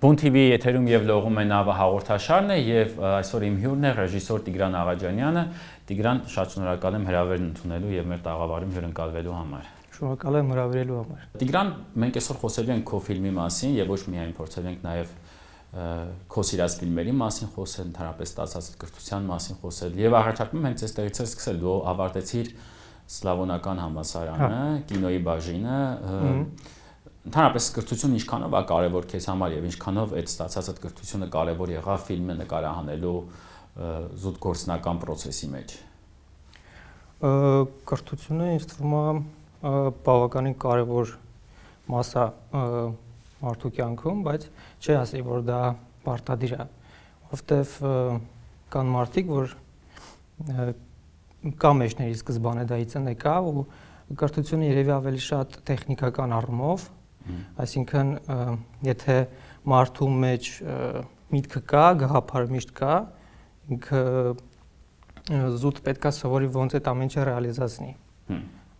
Բուն TV եթերում եւ լողում է նավը հաղորդաշարն է եւ այսօր իմ հյուրն է ռեժիսոր Տիգրան Աղաջանյանը։ Տիգրան, շատ շնորհակալ եմ հրավերն ընդունելու եւ մեր տաղավարում հյուրընկալվելու համար։ Շնորհակալ եմ հրավիրելու համար։ Տիգրան, մենք այսօր խոսելու ենք քո ֆիլմի մասին եւ ոչ միայն փորձել ենք նաեւ քո սիրած ֆիլմերի մասին խոսել, ընդհանրապես ստացած կրթության մասին խոսել եւ առաջարկում եմ հենց այստեղից սկսել։ Դու ավարտեցիր Սլավոնական համալսարանը, կինոյի բաժինը, ընդհանրապես կրթությունը ինչքանով է կարևոր քեզ համար եւ ինչքանով այդ ստացածդ կրթությունը կարևոր եղավ ֆիլմը նկարահանելու զուտ գործնական process-ի մեջ։ Կրթությունը ինձ թվում է բավականին կարևոր մաս է մարդու կյանքում, բայց չի ասի, որ դա պարտադիր է, որովհետեւ կան մարդիկ, որ կա մեջների սկզբանե դայից են եկա ու կրթությունը երևի ավելի շատ տեխնիկական առումով, այսինքն եթե մարդու մեջ միտքը կա, գաղափարը միշտ կա, ինքը զուտ պետքա սովորի ոնց այդ ամեն ինչը ռեալիզացնի։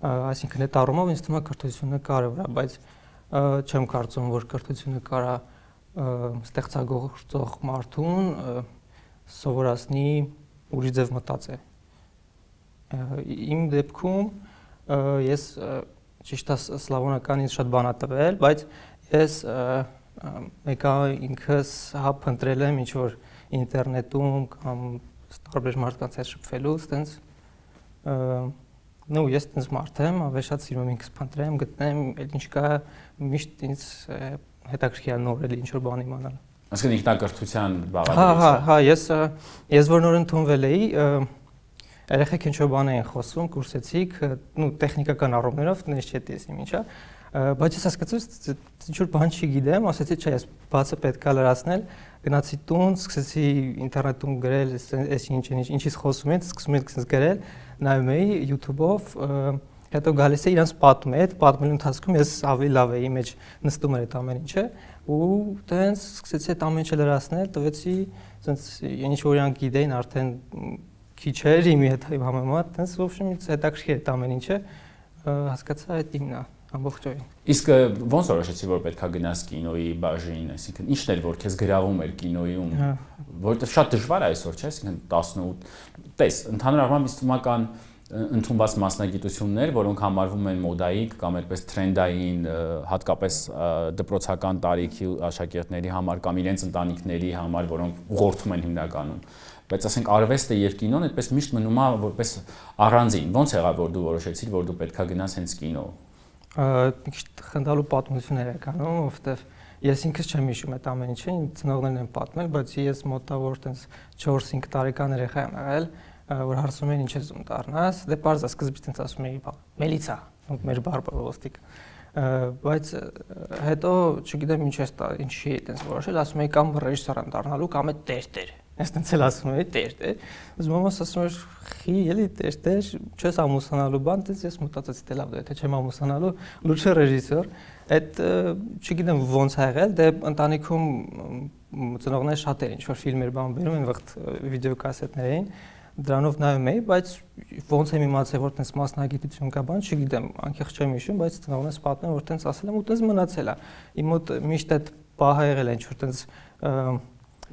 Այսինքն այդ առումով ինձ թվում է կրթությունը կարևոր է, բայց չեմ կարծում, որ կրթությունը կարա ստեղծագործող մարդուն սովորացնի ուրիշ ձև մտածել։ Իմ դեպքում ես ճիշտ է սլավոնական ինձ շատ բան է տվել, բայց ես մեկա ինքս փնտրել եմ ինչ-որ ինտերնետում կամ տարբեր մարդկանց հետ շփվելուց, տենց նո ես տենց մարդ եմ, ավելի շատ սիրում եմ ինքս փնտրեմ, գտնեմ, այդ ինչ կա, միշտ ինձ հետաքրքիր է նորել ինչ-որ բան իմանալ։ Այսինքն ինքնակրթության բաղադրիչ։ Հա, ես որ նոր ընդունվել էի, երեխեք ինչ-որ բան էին խոսում, կուրսեցիք, նո տեխնիկական առումներով, դες չէ տեսնիմ ինչա, բայց ես հասկացա, ինչ-որ բան չգիտեմ, ասեցի, չէ, ես բացը պետք է լրացնել, գնացի տուն, սկսեցի ինտերնետում գրել, այս ինչից խոսում են, սկսում եմ գրել, նայում էի YouTube-ով, հետո գալիս է իրանց պատում է, այդ պատմելու ընթացքում ես ավելի լավ էի մեջ նստում էր այդ ամեն ինչը ու տենց սկսեցի այդ ամեն ինչը լրացնել, տվեցի, ասենց ինչ որ իրանք գիտեին արդեն քիչ էր իմի հետ համեմատ, տենց ոբշեմ ինձ հետաքրքիր այդ ամեն ինչը, հասկացա այդ իմն է ամբողջովին։ Իսկ ոնց որոշեցի, որ պետքա գնաս կինոյի բաժին, այսինքն ի՞նչն էր, որ քեզ գրավում էր կինոյում, որովհետև շատ դժվար է այսօր, չէ՞, այսինքն 18, տես, ընդհանուր առմամբ ինձ թվում է ընդունված մասնագիտություններ, որոնք համարվում են մոդայիկ կամ այդպես թրենդային, հատկապես դպրոցական տարիքի աշակերտների համար կամ իրենց ընտանիքների համար, որոնք ուղղորդում են հիմնականում։ Բայց ասենք արվեստը եւ կինոն այդպես միշտ մնում է որպես առանձին։ Ոնց եղավ, որ դու որոշեցիր, որ դու պետքա գնաս հենց կինո։ Միշտ խնդալու պատմություններ է կանում, որովհետեւ ես ինքս չեմ հիշում այդ ամեն ինչը, ծնողներն են պատմել, բայց ես մոտավոր տենց 4-5 տարեկան երեխա եմ եղել, որ հարցում են ինչ ես ում դառնաս, դե պարզ է սկզբից տենց ասում էի, մելիցա, մեր բարբառը ոստիկ, բայց հետո չգիտեմ ինչի է տենց որոշել, ասում էի կամ ռեժիսոր եմ դառնալու, կամ է տեր, ես տենց էլ ասում էի տեր, ուզում մամաս ասում էր խի, էլի տեր, չես ամուսնանալու բան, տենց ես մտածեցի դե լավ, եթե չեմ ամուսնանալու, լուրջ ռեժիսոր, այդ չգիտեմ ոնց ա եղել, դե ընտանիքում ծնողները շատ էր ինչ-որ ֆիլմեր բան բերում են, վաղ վիդեոկասետներ էին, դրանով նայում էի, բայց ոնց եմ իմացել, որ տենց մասնագիտություն կա բան, չգիտեմ, անկեղծ չեմ հիշում, բայց ծնողներս պատմեն, որ տենց ասել եմ ու տենց մնացել է։ Իմ մոտ միշտ այդ պահը եղել է ինչ-որ տենց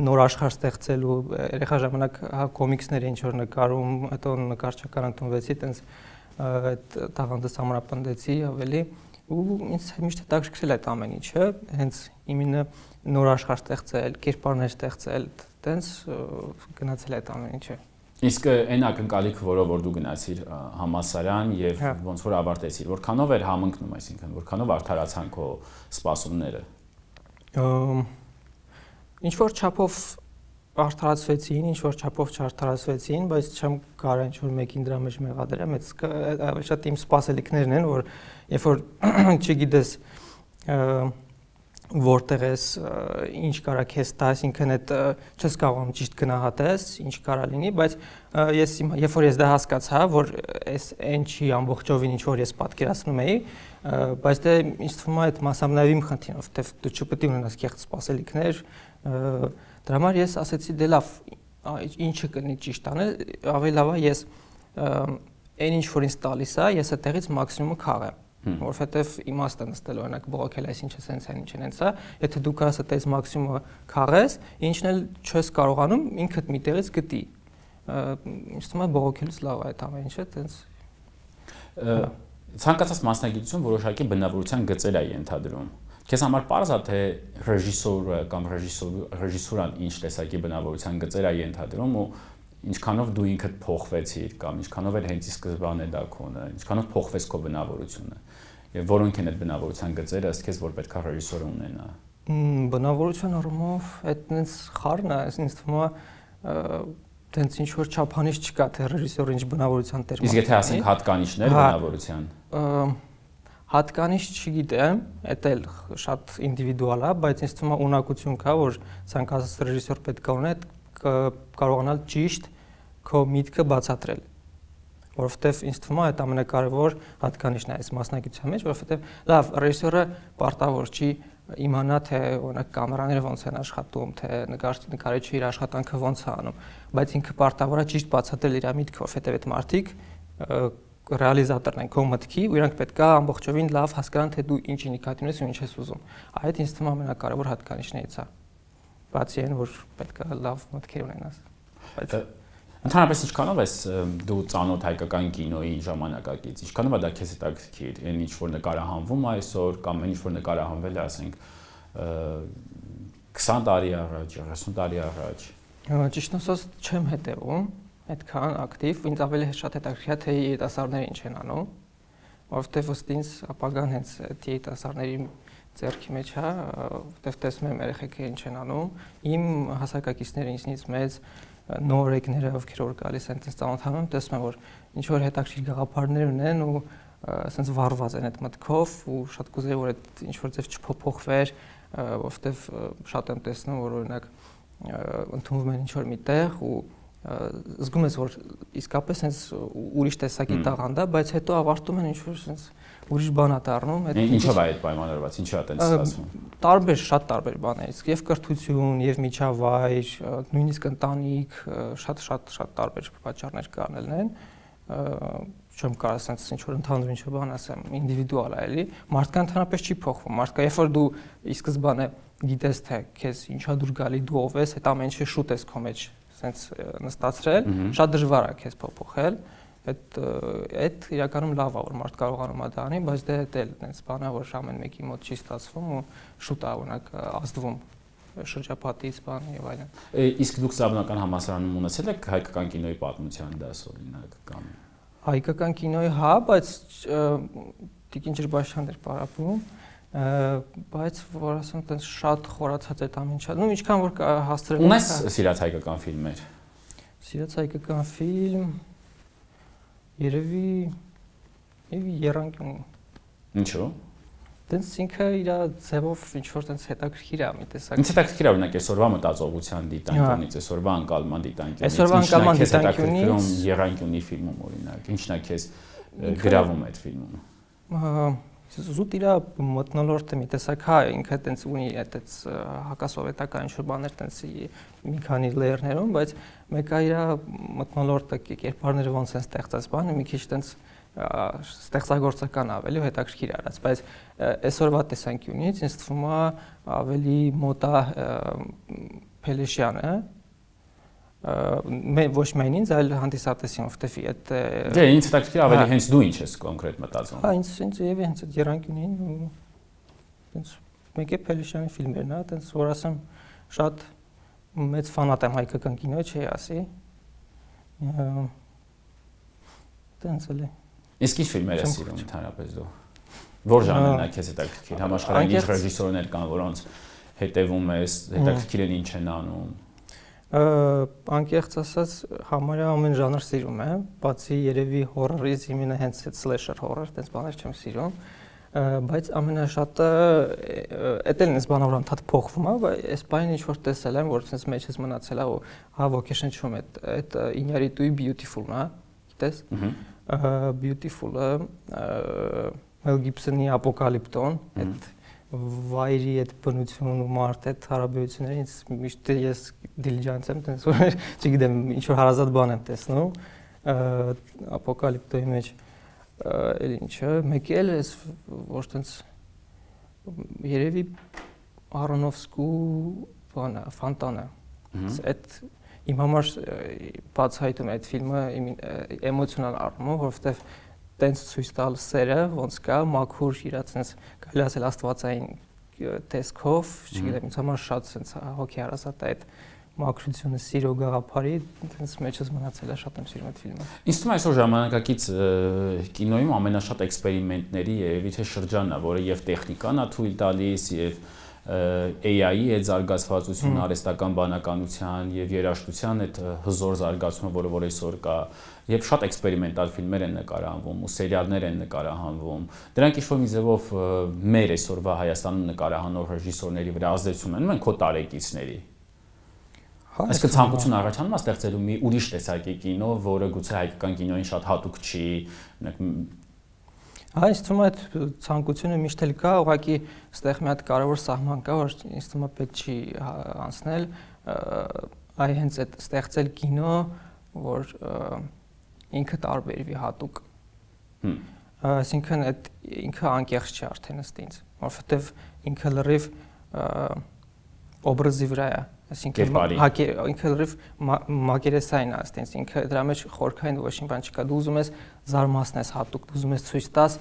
նոր աշխարհ ստեղծելու, երեխա ժամանակ հա կոմիքսներ ինչ որ նկարում, հետո նկարչական ընդունվեցի, տենց այդ տաղանդս համապնդեցի ավելի ու ինձ միշտ հետաքրքրել այդ ամեն ինչը, հենց իմինը նոր աշխարհ ստեղծել, կերպարներ ստեղծել, տենց գնացել այդ ամեն ինչը։ Իսկ այն ակնկալիքը, որով որ դու գնացիր համալսարան եւ ոնց որ ավարտեցիր, որքանով էր համընկնում, այսինքն որքանով արդարացան քո սպասումները։ Ինչ որ չափով արդարացվեցին, ինչ որ չափով չարդարացվեցին, բայց չեմ կարող ինչ որ մեկին դրա մեջ մեղադրեմ, այդ շատ իմ սպասելիքներն են, որ երբ որ չգիտես որտեղ ես ինչ կարա քեզ տա, այսինքն այդ չես կարողանում ճիշտ գնահատես, ինչ կարա լինի, բայց ես երբ որ ես դա հասկացա, որ այս այն չի ամբողջովին ինչ որ ես պատկերացնում էի, բայց դե ինձ թվում է այդ մասամբ նաև իմ խնդիրն է, որտեղ դու չպետք է ունենաս կեղծ սպասելիքներ, դրա համար ես ասեցի դե լավ, ինչը կնի ճիշտ անել, ավելի լավ է ես այն ինչ որ ինձ տալիս է, ես այդտեղից մաքսիմումը քաղեմ։ որովհետև իմաստը նստել օրինակ բողոքել այսինչը սենց է, ինչ են սա, եթե դու կարաս այդպես մաքսիմումը քաղես, ինչն էլ չես կարողանում ինքդ մի տեղից գտի։ Ինձ թվում է բողոքելուց լավ է այդ ամեն ինչը, տենց ցանկացած մասնագիտություն որոշակի բնավորության գծեր է ենթադրում։ Քեզ համար պարզ է թե ռեժիսորը կամ ռեժիսուրան ինչ տեսակի բնավորության գծեր է ենթադրում ու ինչքանով դու ինքդ փոխվեցիր կամ ինչքանով էլ հենց ի սկզբանե դա քոնը, ինչքանով փոխվեց քո բնավորությունը եւ որոնք են այդ բնավորության գծերը ըստ քեզ որ պետք է ռեժիսորը ունենա։ Բնավորության առումով այդ նենց խառն է, ինձ թվում է տենց ինչ որ չափանիշ չկա թե ռեժիսորը ինչ բնավորության տեր։ Իսկ եթե ասենք հատկանիշներ բնավորության։ Հատկանիշ չգիտեմ, դա էլ շատ ինդիվիդուալ է, բայց ինձ թվում է ունակություն կա, որ ցանկացած ռեժիսոր պետք է ունենա կարողանալ ճիշտ քո միտքը բացատրել, որովհետև ինձ թվում է այդ ամենակարևոր հատկանիշն է այս մասնագիտության մեջ, որովհետև լավ ռեժիսորը պարտավոր չի իմանա թե օրինակ կամերաները ոնց են աշխատում, թե նկարիչը իր աշխատանքը ոնց է անում, բայց ինքը պարտավոր է ճիշտ բացատրել իր միտքը, որովհետև այդ մարդիկ ռեալիզատորն են քո մտքի ու իրանք պետք է ամբողջովին լավ հասկանան թե դու ինչի նկատի ունես ու ինչ ես ուզում։ Այդ ինձ թվում է ամենակարևոր հատկանիշներից է։ Բացի այն, որ պետք է լավ մտքեր ունենաս։ Բայց ընդհանրապես ինչքանով ես դու ծանոթ հայկական կինոյի ժամանակակից, ինչքանով է դա քեզ հետաքրքիր, այն ինչ որ նկարահանվում է այսօր կամ այն ինչ որ նկարահանվել է, ասենք 20 տարի առաջ, 30 տարի առաջ։ Ճիշտ ասած չեմ հետևում այդքան ակտիվ, ինձ ավելի շատ հետաքրքիր է թե երիտասարդները ինչ են անում, որովհետև ըստ ինձ ապագան հենց երիտասարդների ձեռքի մեջ է, որտեղ տեսնում եմ երեխեքը ինչ են անում, իմ հասակակիցները ինձնից մեծ նորեկները, ովքեր որ գալիս են այդպես ծանոթանում, տեսնում եմ որ ինչ որ հետաքրքիր գաղափարներ ունեն ու ասենց վառված են այդ մտքով ու շատ կուզեի որ այդ ինչ որ ձև չփոփոխվեր, որովհետև շատ եմ տեսնում որ օրինակ ընդունվում են ինչ որ միտեղ ու զգում ես որ իսկապես հենց ուրիշ տեսակի տաղանդ է, բայց հետո ավարտում են ինչ որ հենց ուրիշ բան է դառնում։ Ինչով է այդ պայմանավորված, ինչու է այդպես ստացվում։ Տարբեր, շատ տարբեր բաներից, եւ կրթություն, եւ միջավայր, նույնիսկ ընտանիք, շատ տարբեր պատճառներ կանելն են։ Չեմ կարող ասենց ինչ որ ընդհանուր ինչ որ բան ասեմ, ինդիվիդուալ է էլի։ Մարդկան ընդհանրապես չի փոխվում։ Մարդկա երբ որ դու ի սկզբանե գիտես թե քեզ ինչա դուր գալի, դու ով ես, այդ ամեն ինչը շուտ ես քո մեջ սենց նստացրել, շատ դժվար է քեզ փոփոխել։ Այդ իրականում լավ է որ մարդ կարողանում է դա անի, բայց դե դա էլ այնպես բան է որ ամեն մեկի մոտ չի ստացվում ու շուտ է օրինակ ազդվում շրջապատից բան եւ այլն։ Իսկ դուք Սաբնական համալսարանում ունեցել եք հայկական կինոյի պատմության դաս օրինակ կամ հայկական կինոյի հա, բայց Տիկին Ջրբաշյանն էր պարապում, բայց որ ասեմ այդպես շատ խորացած այդ ամեն ինչը։ Նու ինչքան որ հասցրել ունես սիրած հայկական ֆիլմեր։ Սիրած հայկական ֆիլմ երևի Եռանկյուն։ Ինչու՞։ Տենց ինքը իր ձևով ինչ որ տենց հետաքրքիր է մի տեսակ։ Ինձ հետաքրքիր է օրինակ այսօրվա մտածողության դիտանկյունից, այսօրվա անկալման դիտանկյունից։ Այսօրվա անկալման դիտանկյունից Եռանկյունի ֆիլմում օրինակ, ինչն է քեզ գրավում այդ ֆիլմում։ Զուտ իր մթնոլորտը մի տեսակ հա ինքը տենց ունի այդպես հակասովետական ինչ որ բաներ տենց մի քանի լեյերներում, բայց մեկը իր մթնոլորտը կերպարները ոնց են ստեղծած բանը մի քիչ տենց ստեղծագործական ավելի հետաքրքիր արած, բայց այսօրվա տեսանկյունից ինձ թվում է ավելի մոտ է Փելեշյանը, ոչ միայն ինձ, այլ հանդիսատեսին, որտեվ այդ դե ինձ հետաքրքիր ավելի հենց դու ինչ ես կոնկրետ մտածում։ Հա, ինձ եւ հենց այդ Եռանկյունին ու այնց մեկ է Փելեշյանի ֆիլմերն է, այնց որ ասեմ շատ մեծ ֆանատ եմ հայկական կինոյի, չի ասի։ Տենց էլի։ Իսկ ինչ ֆիլմեր ես սիրում ընդհանրապես դու։ Որ ժանրն է քեզ հետաքրքիր, համաշխարհային ինչ ռեժիսորներ կան, որոնց հետևում ես, հետաքրքիր են ինչ են անում։ Անկեղծ ասած համարյա ամեն ժանր սիրում եմ, բացի երևի հորորից իմենը հենց այդ սլեշեր հորոր, այդպես բաներ չեմ սիրում, բայց ամենաշատը էդ էլ այնպես բանավոր անդադ փոխվում է, բայց այս բանը ինչ որ տեսել եմ, որ sense մեջս մնացել է ու հա ոգեշնչում է, այդ Ինյարիտուի Beautiful-ն է, գիտես։ Beautiful-ը Մել Գիբսոնի Ապոկալիպտոն, այդ վայրի այդ բնություն ու մարդ այդ հարաբերությունները ինձ միշտ ես դիլիջանս եմ տես որ չգիտեմ ինչ որ հարազատ բան եմ տեսնում Ապոկալիպտոյի մեջ էլ ինչը, մեկ էլ էս որ տենց երևի Արոնոֆսկու բանը, Ֆանտանը։ Այդ իմ համար բացահայտում է այդ ֆիլմը էմոցիոնալ առումով, որովհետև տենց ցույց տալ սերը ոնց կա, մաքուր իրա տենց կարելի ասել աստվածային տեսքով, չգիտեմ, ինձ համար շատ տենց հոգեհարազատ է այդ մաքրությունը, սիրո գաղափարի, տենց մեջս մնացել է, շատ եմ սիրում այդ ֆիլմը։ Ինձ թվում է այսօր ժամանակակից կինոյում ամենաշատ էքսպերիմենտների երևի թե շրջանն է, որը եւ տեխնիկան է թույլ տալիս, եւ AI-ի այդ զարգացվածությունը, արհեստական բանականության եւ երաժշտության այդ հզոր զարգացումը, որը որ այսօր կա, եւ շատ էքսպերիմենտալ ֆիլմեր են նկարահանվում ու սերիալներ են նկարահանվում։ Դրանք ինչ-որ մի ձևով մեր այսօրվա Հայաստանում նկարահանող ռեժիսորների վրա ազդեցություն ունեն, քո տարեկիցների։ Այսինքն ցանկություն առաջանում է ստեղծելու մի ուրիշ տեսակի կինո, որը գուցե հայկական կինոյին շատ հատուկ չի, Ինձ թվում է այդ ցանկությունը միշտ էլ կա, ուղղակի այստեղ մի հատ կարևոր սահման կա, որ ինձ թվում է պետք չի անցնել, այ հենց այդ ստեղծել կինո, որ ինքը տարբերվի հատուկ։ Այսինքն այդ ինքը անկեղծ չի արդեն ըստ ինձ, որովհետև ինքը լրիվ օբրազի վրա է, այսինքն ինքը լրիվ մակերեսային է ըստ ինձ, ինքը դրա մեջ խորքային ոչ մի բան չկա, դու ուզում ես զարմացնես հատուկ, դու ուզում ես ցույց տաս,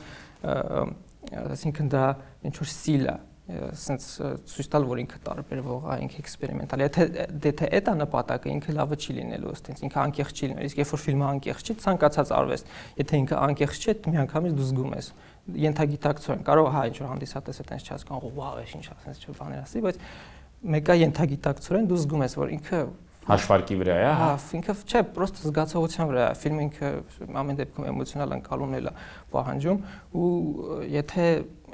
այսինքն դա ինչ որ ստիլ է, ասենց ցույց տալ, որ ինքը տարբերվող է, ինքը էքսպերիմենտալ է, եթե այդ է նպատակը, ինքը լավը չի լինելու ըստ ինձ, ինքը անկեղծ չի լինելու, իսկ երբ որ ֆիլմը անկեղծ չի, ցանկացած արվեստ, եթե ինքը անկեղծ չի, միանգամից դու զգում ես, ենթագիտակցորեն, կարող է ինչ որ հանդիսատեսը տենց չհասկանա, վաու, ինչ ասենց չէ բաներ ասի, բայց մեկը ենթագիտակցորեն դու զգում ես, որ ինքը հաշվարկի վրա է, հա, ինքը չէ, պրոստը զգացողության վրա է, ֆիլմը ինքը ամեն դեպքում էմոցիոնալ ընկալումն է պահանջում ու եթե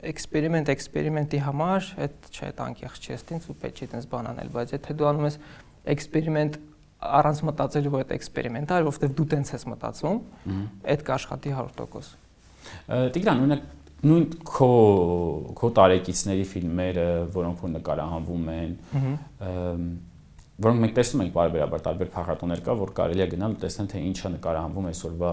էքսպերիմենտի համար այդ չէ, այդ անկեղծ չի ըստ ինձ ու պետք չի այդպես բան անել, բայց եթե դու անում ես էքսպերիմենտ առանց մտածելու, որ այդ էքսպերիմենտ է, որովհետև դու տենց ես մտածում, այդ կաշխատի 100%։ Տիգրան, օրինակ նույն քո տարեկիցների ֆիլմերը, որոնք որ նկարահանվում են, որոնք մենք տեսնում ենք բարբերաբար տարբեր փառատոներ կա, որ կարելի է գնալ ու տեսնել թե ինչա նկարահանվում այսօրվա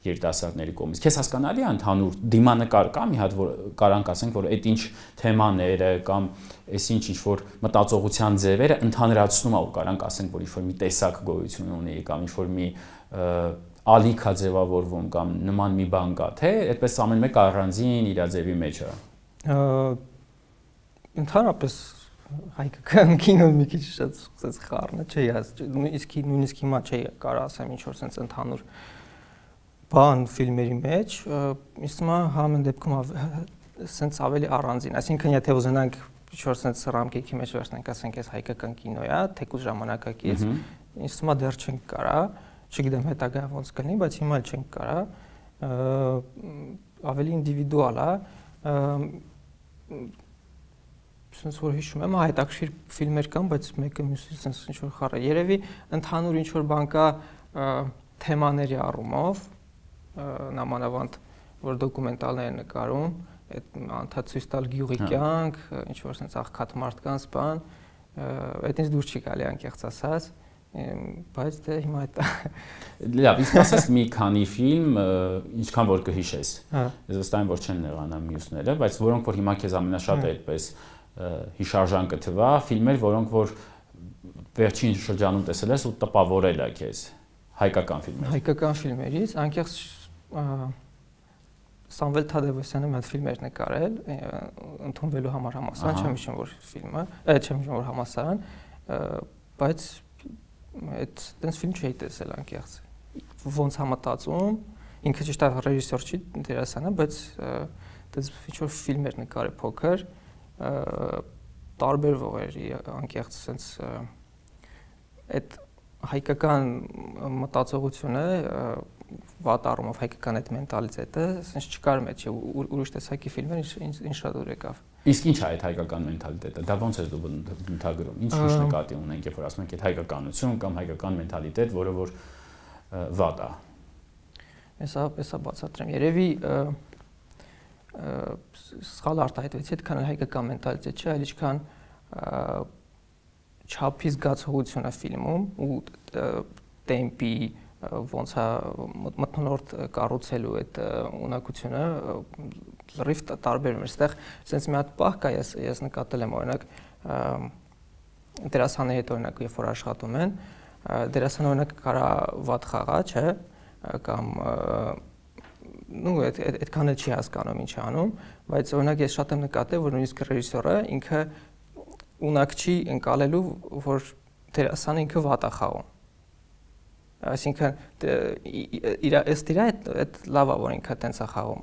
երիտասարդների կողմից։ Քեզ հասկանալի է ընդհանուր դիմանկար կա մի հատ որ կարանք ասենք որ այդ ինչ թեմաները կամ այսինչ ինչ որ մտածողության ձևերը ընդհանրացնում ա ու կարանք ասենք որ ինչ որ մի տեսակ գոյություն ունի կամ ինչ որ մի ալիքա ձևավորվում կամ նման մի բան կա, թե այդպես ամեն մեկը առանձին իր ձևի մեջ է։ Ընդհանրապես հայկական կինոն մի քիչ շատ խառն է, չէ, իսկ նույնիսկ հիմա չէ կարող ասեմ ինչ որ sense ընդհանուր բան ֆիլմերի մեջ, ինձ թվում է համեն դեպքում sense ավելի առանձին, այսինքն եթե ուզենանք ինչ որ sense ռամկեքի մեջ վերցնենք, ասենք այս հայկական կինո է, թեկուզ ժամանակակից, ինձ թվում է դեռ չենք կարա, չգիտեմ հետագա ոնց կլինի, բայց հիմա էլ չենք կարա, ավելի ինդիվիդուալ է, sense որ հիշում եմ, հետաքրքիր ֆիլմեր կան, բայց մեկը մյուսից sense ինչ որ խառը, երևի ընդհանուր ինչ որ բան կա թեմաների առումով, նամանավանդ որ դոկումենտալներ են նկարում, այդ անդադ ցույց տալ գյուղի կյանք, ինչ որ sense աղքատ մարդկանց բան, այդ ինձ դուր չի գալի անկեղծ ասած, բայց դե հիմա այդ լավ, իսկ ասես մի քանի ֆիլմ, ինչքան որ կհիշես։ Ես վստահ եմ որ չեն նեղանա մյուսները, բայց որոնք որ հիմա քեզ ամենաշատը այդպես հիշարժան կթվա, ֆիլմեր, որոնք որ վերջին շրջանում տեսել ես ու տպավորել է քեզ, հայկական ֆիլմեր։ Հայկական ֆիլմերից անկեղծ Սամվել Թադևոսյանը մի հատ ֆիլմեր նկարել, ընդունվելու համար համալսարան, չեմ հիշում որ ֆիլմը, չեմ հիշում որ համալսարան, բայց այդ տենց ֆիլմ չէի տեսել անկեղծ։ Ոնց է մտածում, ինքը ճիշտ է ռեժիսոր չի, դերասան է, բայց տենց ինչ որ ֆիլմեր նկարել փոքր, տարբերվող էր անկեղծ sense այդ հայկական մտածողությունը վատ առումով հայկական այդ մենտալիտետը sense չկար մեջ ուրիշ տեսակի ֆիլմեր ինչ շատ դուր եկավ։ Իսկ ինչ է այդ հայկական մենտալիտետը։ Դա ոնց է դու ընդհանրում։ Ինչ նկատի ունենք, երբ որ ասում ենք այդ հայկականություն կամ հայկական մենտալիտետ, որը որ վատ է։ Հեսա բացատրեմ։ Երևի սխալ արտահայտվեցի, այդքան հայկական մենտալիտետ չէ, այլ ինչքան չափի զգացողություն է ֆիլմում ու տեմպի, ոնց է մթնոլորտ կառուցելու այդ ունակությունը լրիվ տարբերում է։ Այստեղ sense մի հատ պահ կա, ես նկատել եմ օրինակ դերասանների հետ օրինակ երբ որ աշխատում են, դերասանը օրինակ կարա վատ խաղա, չէ, կամ նու այդքան էլ չի հասկանում ինչ է անում, բայց օրինակ ես շատ եմ նկատել, որ նույնիսկ ռեժիսորը ինքը ունակ չի ընկալելու, որ դերասանը ինքը վատ է խաղում։ Այսինքն ըստ իր այդ լավ է որ ինքը տենց է խաղում։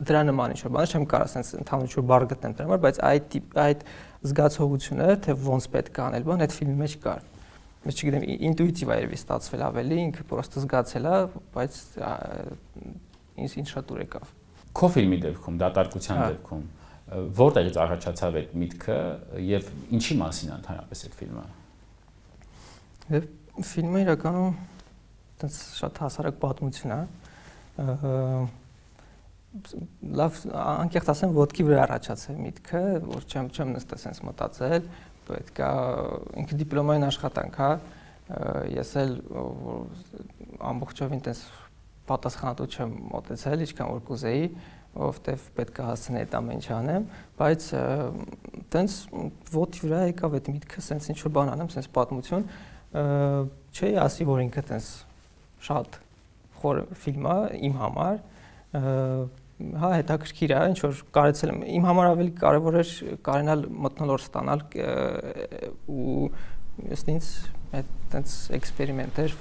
Դրա նման ինչ-որ բան չեմ կարող ասենց ընդհանուր բառ գտնեմ դրա համար, բայց այդ զգացողությունը, թե ոնց պետք է անել բան, այդ ֆիլմի մեջ կար։ Ես չգիտեմ, ինտուիտիվ է երևի ստացվել ավելի, ինքը պրոստը զգացել է, բայց ինձ շատ ուր եկավ։ Քո ֆիլմի դեպքում, դատարկության դեպքում, որտեղից առաջացավ այդ միտքը եւ ինչի մասին է ընդհանրապես այդ ֆիլմը։ Ֆիլմը իրականում այդպես շատ հասարակ պատմություն է։ Լավ, անկեղծ ասեմ, ոտքի վրա առաջացավ միտքը, որ չեմ նստել sense մտածել, պետք է ինքը դիպլոմային աշխատանք է, ես էլ ամբողջովին այդպես պատասխանատու չեմ մոտեցել, ինչքան որ կուզեի, որովհետև պետք է հասցնեի այդ ամեն ինչ անեմ, բայց այդպես ոտքի վրա եկավ այդ միտքը, sense ինչ որ բան անեմ, sense պատմություն, չէի ասի, որ ինքը այդպես շատ խոր ֆիլմ է իմ համար, հա հետաքրքիր է, ինչ որ կարեցել եմ, իմ համար ավելի կարևոր էր կարենալ մթնոլորտ ստանալ ու ըստ ինձ այդպես էքսպերիմենտ էր։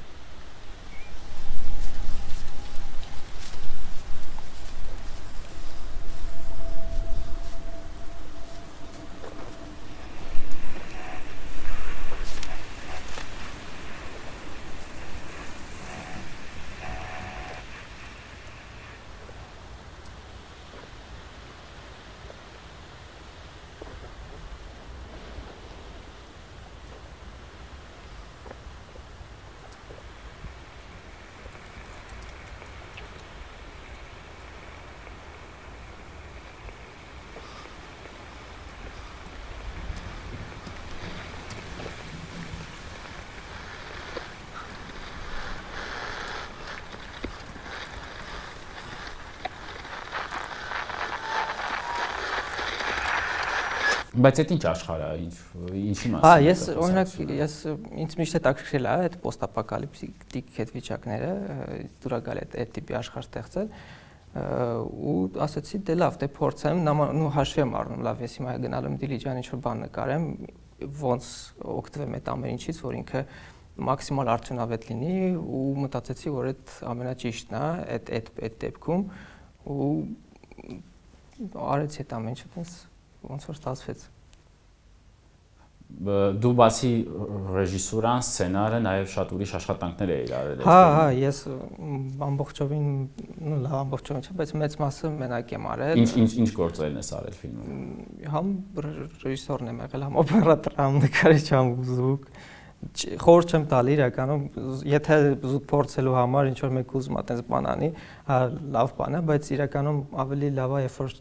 Բայց այդ ինչ աշխարհ է, ինչի մասին։ Հա, ես օրինակ ինձ միշտ հետաքրքրել է այդ պոստապոկալիպտիկ հետվիճակները, դուր գալ այդ տիպի աշխարհ ստեղծել ու ասացի դե լավ, դե փորձեմ, նու հաշվի եմ առնում, լավ, ես հիմա գնալու եմ Դիլիջան ինչ-որ բան նկարեմ, ոնց օգտվեմ այդ ամեն ինչից, որ ինքը մաքսիմալ արդյունավետ լինի ու մտածեցի, որ այդ ամենաճիշտն է այդ դեպքում ու արեցի այդ ամեն ինչը ոնց որ ստացվեց։ Դու բացի ռեժիսուրան, սցենարը, նաև շատ ուրիշ աշխատանքներ էիր արել։ Հա, ես ամբողջովին, նո լավ ամբողջովին չէ, բայց մեծ մասը մենակ եմ արել։ Ինչ գործերն ես արել ֆիլմում։ Համ ռեժիսորն եմ եղել, համ օպերատոր, համ նկարիչ, համ զուկ։ Խորհուրդ չեմ տալի իրականում, եթե զուտ փորձելու համար ինչ որ մեկ ուզում ա տես բան անի, հա լավ բան է, բայց իրականում ավելի լավ է, երբ որ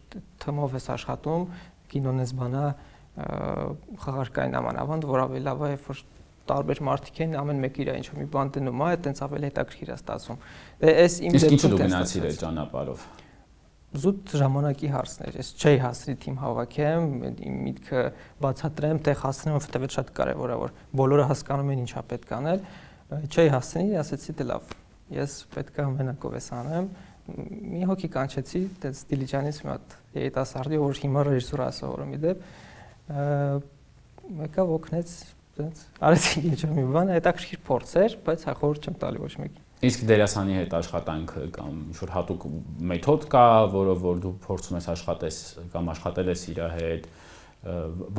թմով ես աշխատում, կինոն ես բանա խաղարկային ամանավանդ, որ ավելի լավ է, երբ որ տարբեր մարդիկ են, ամեն մեկը իր ինչ որ մի բան դնում է, այդտենց ավելի հետաքրքիր է ստացվում։ Այս իմ դեպքում ինչու դու գնացիր այդ ճանապարհով։ Զուտ ժամանակի հարցներ, ես չէի հասցրի թիմ հավաքեմ, իմ միտքը բացատրեմ, տեղ հասցնեմ, որովհետև շատ կարևոր է, որ բոլորը հասկանում են ինչա պետք է անել, չէի հասցնի, ասեցի դե լավ, ես պետք է մենակով ես անեմ, մի հոգի կանչեցի, դες Դիլիջանից մի հատ երիտասարդի, որ հիմա ռեժիսուրա սովորում իդեպ, մեկը օգնեց, դες արեցինք ինչ-որ մի բան, հետաքրքիր փորձ էր, բայց հա խորհուրդ չեմ տալի ոչ մեկին։ Իսկ դերասանի հետ աշխատանքը կամ ինչ-որ հատուկ մեթոդ կա, որով որ դու փորձում ես աշխատես կամ աշխատել ես իր հետ,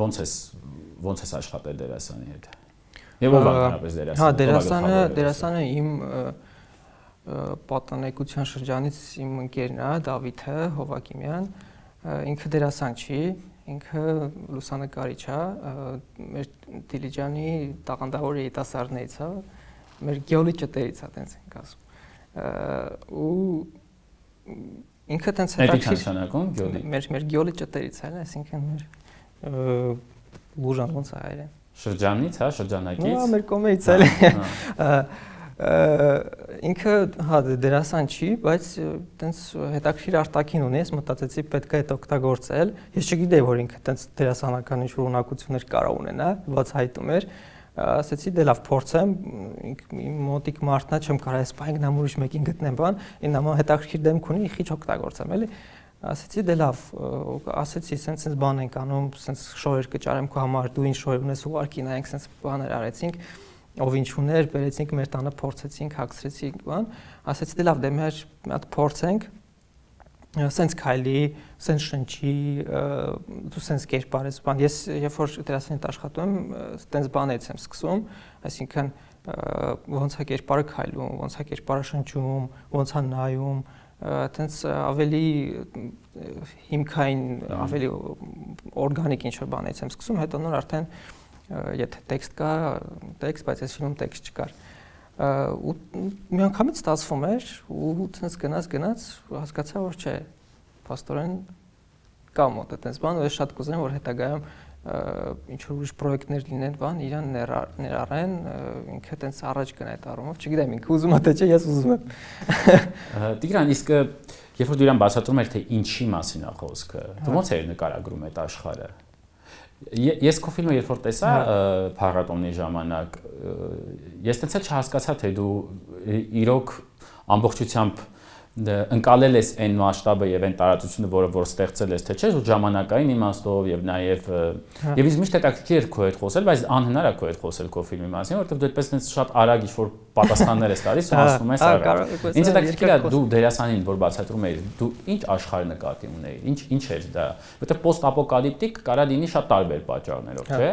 ոնց ես աշխատել դերասանի հետ։ Եվ ով ընդհանրապես դերասանը։ Հա, դերասանը իմ պատանեկության շրջանից իմ ընկերն է, Դավիթը Հովակիմյան, ինքը դերասան չի, ինքը լուսանկարիչ է, մեր Դիլիջանի տաղանդավոր երիտասարդներից է, մեր գյոլի ճտերից է, տենց ենք ասում։ Ու ինքը տենց հետաքրքիր նշանակում գյոլի։ Մեր գյոլի ճտերից է, այսինքն մեր լուժան ոնց է հայերեն։ Շրջանից, հա, շրջանակից։ Նո, մեր կոմերից է։ ինքը հա դերասան չի, բայց տենց հետաքրքիր արտաքին ունի, ես մտածեցի պետք է այդ օգտագործել։ Ես չգիտեի, որ ինքը տենց դերասանական ինչ-որ ունակություններ կարող ունենա, բացահայտում էր։ Ասեցի դե լավ փորձեմ, իմ մոտիկ մարդնա չեմ կարող այս բանը նամ ուրիշ մեկին գտնեմ բան, ինձ նամ հետաքրքիր դեմք ունի, խիչ օգտագործեմ, էլի։ Ասեցի դե լավ, ասեցի սենց բան ենք անում, սենց շոուեր կճարեմ քո համար, դու ինչ շոու ունես ուղարկի նայենք, սենց բաներ արեցինք, ով ինչ ուներ, բերեցինք մեր տանը փորձեցինք, հագցրեցինք բան, ասեցի դե լավ, դե մեր մի հատ փորձենք, սենց քայլի, սենց շնչի, դու սենց կերպարես բան, ես երբ որ դերասանի հետ աշխատում եմ, սենց բանից եմ սկսում, այսինքն ոնց է կերպարը քայլում, ոնց է կերպարը շնչում, ոնց է նայում, տենց ավելի հիմքային, ավելի օրգանիկ ինչ-որ բանից եմ սկսում, հետո նոր արդեն եթե տեքստ կա, տեքստ, բայց այս ֆիլմում տեքստ չկար։ Ու մի անգամից ստացվում էր ու տենց գնաց, հասկացա, որ չէ, փաստորեն կա մոտ այդպես բան, ու ես շատ կուզեմ, որ հետագայում ինչ-որ ուրիշ պրոյեկտներ լինեն, բան, իրան ներառեն, ինքը տենց առաջ գնա այդ առումով, չգիտեմ, ինքը ուզում է թե չէ, ես ուզում եմ։ Տիգրան, իսկ երբ որ դու իրան բացատրում ես, թե ինչի մասին է խոսքը, դու ոնց ես նկարագրում այդ աշխարհը։ Ես քո ֆիլմը երբ որ տեսա փառատոնի ժամանակ, ես տենց էլ չհասկացա, թե դու իրոք ամբողջությամբ ընկալել ես այն մասշտաբը եւ այն տարածությունը, որը որ ստեղծել ես, թե չէ, ու ժամանակային իմաստով եւ նաեւ եւ ինձ միշտ հետաքրքիր էր քո հետ խոսել, բայց անհնար է քո հետ խոսել քո ֆիլմի մասին, որովհետեւ դու այդպես այնպես շատ արագ ինչ-որ պատասխաններ ես տալիս ու ասում ես արագ։ Ինձ հետաքրքիր է դու դերասանին, որ բացատրում էիր, դու ինչ աշխարհ նկատի ունեիր, ինչ էր դա, որովհետեւ պոստապոկալիպտիկ կարա լինի շատ տարբեր պատճառներով, չէ՞։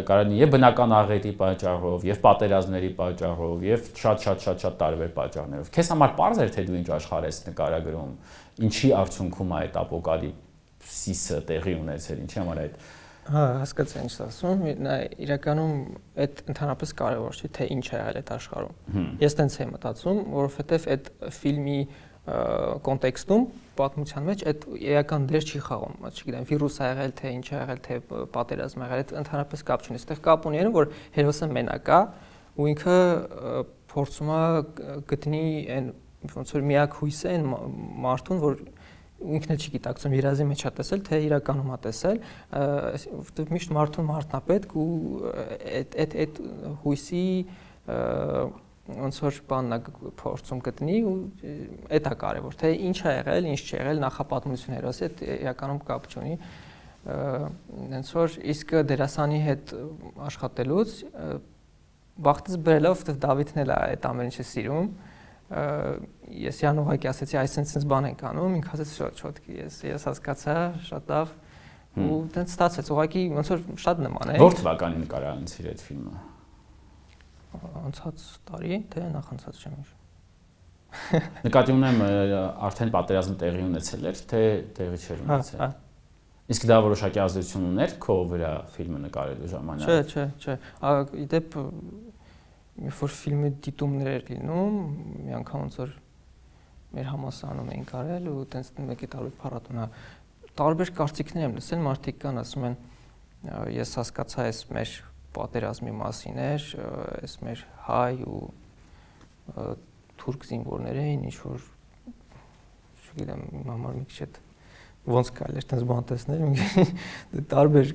Կարա լինի եւ բնական աղետի պատճառով, եւ պատերազմների պատճառով, եւ շատ տարբեր պատճառներով։ Քեզ համար պարզ էր, թե դու ինչ աշխարհ ես նկարագրում, ինչի արդյունքում է այդ ապոկալիպսիսը տեղի ունեցել, ինչի համար այդ։ Հա, հասկացա ինչ ասում, նա իրականում այդ ընդհանրապես կարևոր չի, թե ինչ է եղել այդ աշխարհում։ Ես տենց եմ մտածում, որովհետեւ այդ ֆիլմի կոնտեքստում պատմության մեջ այդ էական դեր չի խաղում, չգիտեմ, վիրուս ա եղել, թե ինչ ա եղել, թե պատերազմ ա եղել, այդ ընդհանրապես կապ չունի։ Այստեղ կապ ունի այն, որ հերոսը մենակ է ու ինքը փորձում է գտնի այն ոնց որ միակ հույսը այն մարդուն, որ ինքն էլ չի գիտակցում երազի մեջ է տեսել, թե իրականում է տեսել, որովհետև միշտ մարդուն մարդն է պետք ու այդ հույսի ոնց որ բանն է փորձում գտնի ու այդ է կարևոր, թե ինչ է եղել, ինչ չի եղել, նախապատմություն հերոսի հետ իրականում կապ չունի, հենց որ իսկ դերասանի հետ աշխատելուց բախտից բերելով, որովհետև Դավիթն էլ է այդ ամեն ինչը սիրում, ես իրան ուղղակի ասեցի, այսինքն բան ենք անում, ինքը ասաց շոթքի, ես հասկացա, շատ լավ ու տենց ստացվեց, ուղղակի ոնց որ շատ նման է։ Որ թվականին նկարահանցիր այդ ֆիլմը։ Անցած տարի, թե նախանցած չեմ հիշում։ Նկատի ունեմ արդեն պատերազմը տեղի ունեցել էր, թե տեղի չէր ունեցել։ Իսկ դա որոշակի ազդեցություն ուներ քո վրա ֆիլմը նկարելու ժամանակ։ Չէ։ Իդեպ երբ որ ֆիլմի դիտումներ էր լինում, մի անգամ ոնց որ մեր համասարանում էին կարել ու տենց մեկի տարբեր փառատոնա տարբեր կարծիքներ եմ լսել, մարդիկ կան ասում են ես հասկացա այս մեր պատերազմի մասին էր, այս մեր հայ ու թուրք զինվորներ էին, ինչ որ չգիտեմ, համար մի քիչ ոնց կարելի է այդպես բան տեսնել, տարբեր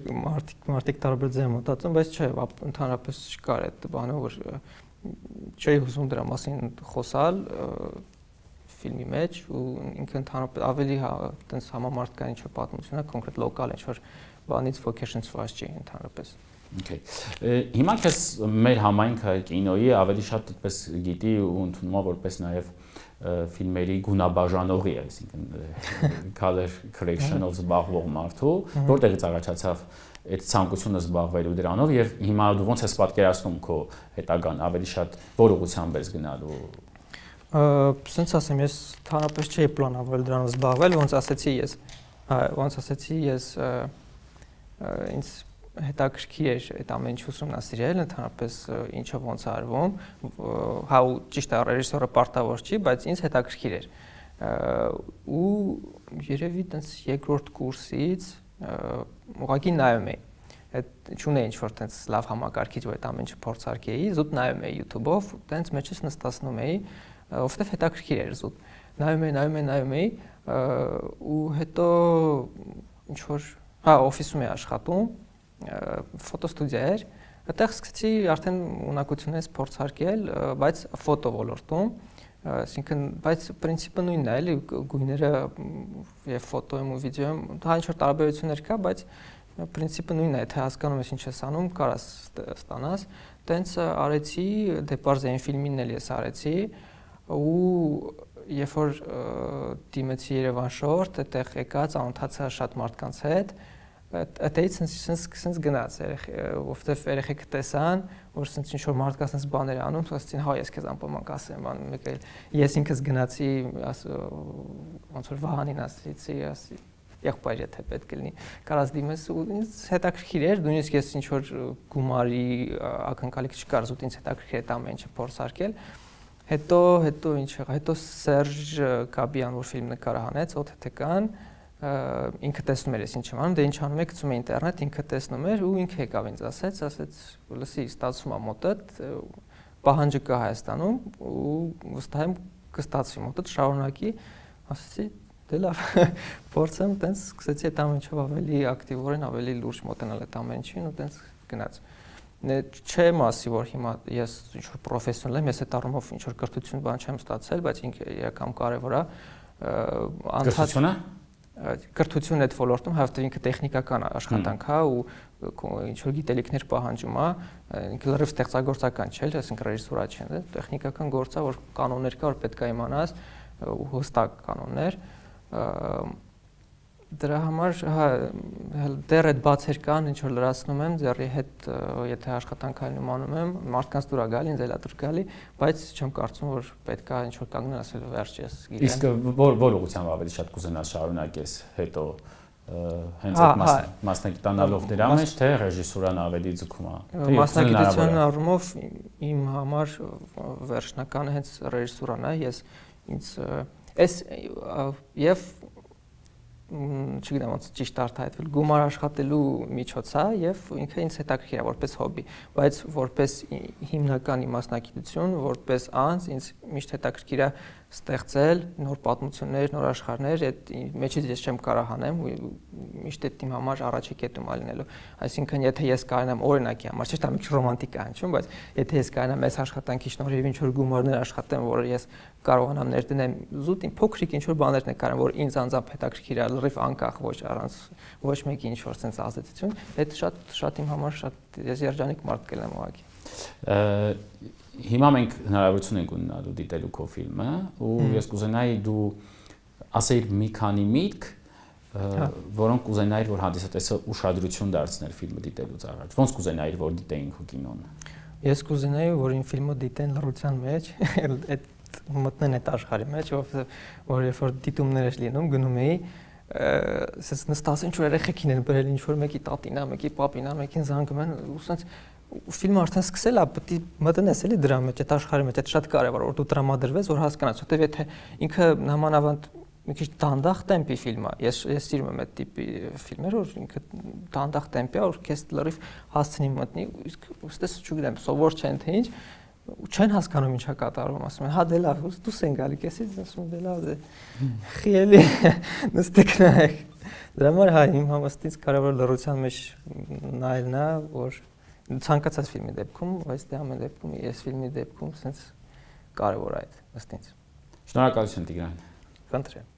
մարդիկ տարբեր ձև մտածում, բայց չէ, ընդհանրապես չկար այդ բանը, որ չէի ուզում դրա մասին խոսալ ֆիլմի մեջ ու ինքը ընդհանրապես ավելի այդպես համամարտկային ինչ-որ պատմություն է, կոնկրետ լոկալ ինչ-որ բանից focus-ված չի ընդհանրապես։ Okay. Հիմա քեզ մեր համայնքը կինոյի ավելի շատ այդպես գիտի ու ընդունում է որպես նաև ֆիլմերի գունաբաժանողի, այսինքն color correction-ով զբաղվող մարդու, որտեղից առաջացավ այդ ցանկությունը զբաղվելու դրանով եւ հիմա դու ոնց ես պատկերացնում քո հետագան ավելի շատ որ ուղղությամբ ես գնալու։ Սենց ասեմ, ես թանրապես չէի պլանավորել դրանով զբաղվել, ոնց ասեցի ես ինձ հետաքրքիր էր այդ ամեն ինչ ուսումնասիրել, ընդհանրապես ինչը ոնց է արվում, հա ու ճիշտ է ռեժիսորը պարտավոր չի, բայց ինձ հետաքրքիր էր։ Ու երևի տենց երկրորդ կուրսից ուղղակի նայում էի։ այդ չունեի ինչ-որ տենց լավ համակարգիչ, որ այդ ամեն ինչը փորձարկեի, զուտ նայում էի YouTube-ով, տենց մեջից նստացնում էի, որովհետև հետաքրքիր էր զուտ։ Նայում էի, ու հետո ինչ-որ, օֆիսում էի աշխատում, ֆոտոստուդիա էր, այդտեղ սկսեցի արդեն ունակությունից փորձարկել, բայց ֆոտո ոլորտում, այսինքն, բայց պրինցիպը նույնն է, էլի գույները եւ ֆոտոյում ու վիդեոյում դա ինչ-որ տարբերություններ կա, բայց պրինցիպը նույնն է, թե հասկանում ես ինչ ես անում, կարաս ստանաս, տենց արեցի, դեպարզային ֆիլմին էլ ես արեցի, ու երբ որ դիմեցի Երևան շորտ, այդտեղ եկա, ծանոթացա շատ մարդկանց հետ, այդտեղից sense գնաց, որովհետև երեխեքը տեսան, որ sense ինչ-որ մարդկա sense բաներ անում, ասեցին, հա, ես քեզ անպայման կասեմ, մեկ էլ ես ինքս գնացի, ոնց որ Վահանին ասեցի, եղբայր եթե պետք է լինի, կարաս դիմես ու ինձ հետաքրքիր էր, նույնիսկ ես ինչ-որ գումարի ակնկալիք չկար, զուտ ինձ հետաքրքիր էր ամեն ինչը փորձարկել, հետո ինչ եղա, հետո Սերժ Գաբյան, որ ֆիլմ նկարը հանեց, օթեթեկան, ինքը տեսնում էր ես ինչ եմ անում, դե ինչ անում եք, գցում է ինտերնետ, ինքը տեսնում էր ու ինքը եկավ ինձ ասեց, լսի, ստացվում է մոտդ, պահանջը կա Հայաստանում ու վստահ եմ կստացվի մոտդ, շարունակի, ասեցի, դե լավ, փորձեմ, տենց սկսեցի այդ ամեն ինչով ավելի ակտիվորեն, ավելի լուրջ մոտենալ այդ ամեն ինչին ու տենց գնաց։ Չէ մասի, որ հիմա ես ինչ-որ պրոֆեսիոնալ եմ, ես այդ առումով ինչ-որ կրթություն բան չեմ ստացել, բայց ինքը իրական կարևոր է։ Կրթությունը կրթությունը այդ ոլորտում, հավատի ինքը տեխնիկական աշխատանք է ու ինչ-որ գիտելիքներ պահանջում է, ինքը լրիվ ստեղծագործական չէ, այսինքն ռեժիսուրա չէ, տեխնիկական գործ է, որ կանոններ կա, որ պետք է իմանաս, ու հստակ կանոններ, դրա համար դեռ այդ բացեր կան, ինչ որ լրացնում եմ, ձեռի հետ եթե աշխատանքային անում եմ, մարդկանց դուր է գալի, ինձ էլա դուր գալի, բայց չեմ կարծում, որ պետք է ինչ որ կանգնել ասել վերջ ես գիտեմ։ Իսկ որ ուղղությամբ ավելի շատ կուզենաս շարունակես հետո հենց այդ մասնագիտանալով դրա մեջ, թե ռեժիսուրան ավելի ձգում է։ Մասնագիտության առումով իմ համար վերջնականը հենց ռեժիսուրան է, ես ինձ եւ չգիտեմ ոնց ճիշտ արտահայտվել, գումար աշխատելու միջոց է եւ ինքը ինձ հետաքրքիր է որպես հոբի, բայց որպես հիմնական մասնագիտություն, որպես անձ ինձ միշտ հետաքրքիր է ստեղծել նոր պատմություններ, նոր աշխարհներ, այդ մեջից ես չեմ կարող հանեմ, միշտ այդ իմ համար առաջի կետում ալինելու։ Այսինքն, եթե ես կարողանամ օրինակի համար, չէ՞ դա մի քիչ ռոմանտիկ է հնչում, բայց եթե ես կարողանամ այս աշխատանքի շնորհիվ ինչ որ գումարներ աշխատեմ, որ ես կարողանամ ներդնեմ զուտ փոքրիկ ինչ որ բաներ նկարեմ, որ ինձ անձամբ հետաքրքիր է, լրիվ անկախ ոչ առանց ոչ մեկի ինչ որ sense ազդեցություն, այդ շատ իմ համար շատ ես երջանիկ մարդ կլինեմ ուղղակի։ Հիմա մենք հնարավորություն ենք ունենալու դիտելու քո ֆիլմը ու ես կուզենայի դու ասեիր մի քանի միտք, որոնք կուզենայիր որ հանդիսատեսը ուշադրություն դարձներ ֆիլմը դիտելուց առաջ։ Ոնց կուզենայիր որ դիտեին քո կինոն։ Ես կուզենայի որ իմ ֆիլմը դիտեն լրության մեջ, այդ մտնեն այդ աշխարհի մեջ, որ երբ որ դիտումներ ես լինում, գնում էի, ասես նստած ինչ որ երեխեքին են բերել, ինչ որ մեկի տատին է, մեկի պապին է, մեկին զանգում են, ու ասենց ֆիլմը արդեն սկսել է, պետք է մտնես էլի դրա մեջ, այդ աշխարհի մեջ, այդ շատ կարևոր է, որ դու տրամադրվես, որ հասկանաս, որտեվ եթե ինքը նամանավանդ մի քիչ դանդաղ տեմպի ֆիլմ է, ես սիրում եմ այդ տիպի ֆիլմեր, որ ինքը դանդաղ տեմպի է, որ քեզ լրիվ հասցնի մտնի, իսկ ըստես չգիտեմ, սովոր չեն թե ինչ, չեն հասկանում ինչա կատարվում, ասում են, հա դե լավ, դուս են գալի, քեսից ասում դե լավ, խիելի նստեք նայեք։ Դրա համար հա իմ համաստից կարևոր լրության մեջ նայելն է, որ ցանկացած ֆիլմի դեպքում, բայց դե ամեն դեպքում, ես ֆիլմի դեպքում sense կարևոր է այդ ըստ ինձ։ Շնորհակալություն Տիգրան։ Խնդրեմ։